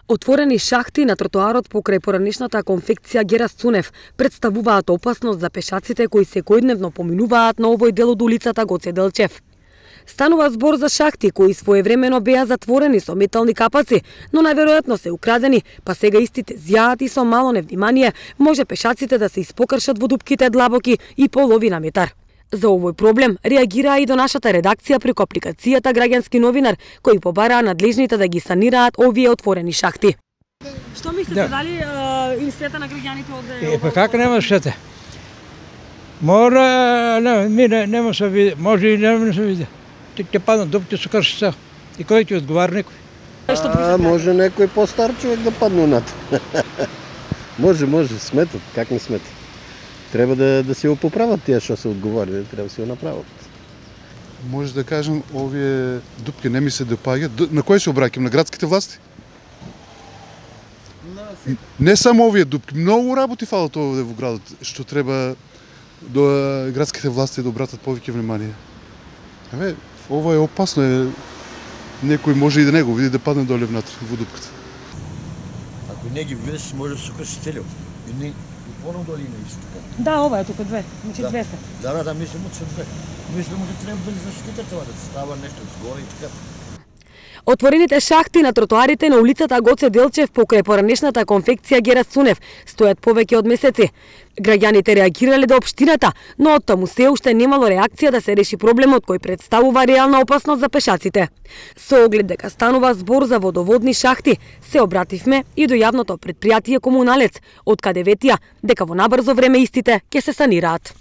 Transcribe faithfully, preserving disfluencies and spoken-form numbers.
Отворени шахти на тротоарот покрај поранешната конфекција Герас Цунев представуваат опасност за пешаците кои секојдневно поминуваат на овој дел од улицата Гоце Делчев. Станува збор за шахти кои своевремено беа затворени со метални капаци, но најверојатно се украдени, па сега истите зјаат и со мало невнимание може пешаците да се испокршат во дупките длабоки и половина метар. За овој проблем реагираа и до нашата редакција преку апликацијата Граѓански новинар, кои побараа надлежните да ги санираат овие отворени шахти. Што мислите, да. Дали им света на граѓаните овде? Е, па како нема света? Мора, не, ми не, нема се види, може и нема се види. Ќе паднат дупки со кршица. И кој ќе одговара некој? А, може некој постар човек да падне над. Може, може, сметат, как не сметат. Треба да, да се го поправат тие што се одговорени, треба да се го направат. Може да кажем, овие дупки не ми се допаѓаат. На кој се обраќам? На градските власти? Не само овие дупки, многу работи фалат овде во градот, што треба до градските власти да обратат повеќе внимание. Еве, ова е опасно, е, некој може и да не го види да падне доле внатре во дупката. Ако не ги видиш, може да се крши целиот. И не поновно доле има исто така. Да, ова е тука две, значи да. две се. Да, да, да, мислам од се две. Мислам дека треба да заштитат това, да става нешто згоре и така. Отворените шахти на тротоарите на улицата Гоце Делчев покрај поранешната конфекција Герас Цунев стојат повеќе од месеци. Граѓаните реагирале до општината, но оттаму се уште немало реакција да се реши проблемот кој представува реална опасност за пешаците. Со оглед дека станува збор за водоводни шахти, се обративме и до јавното претпријатие Комуналец, од каде ветија дека во набрзо време истите ќе се санираат.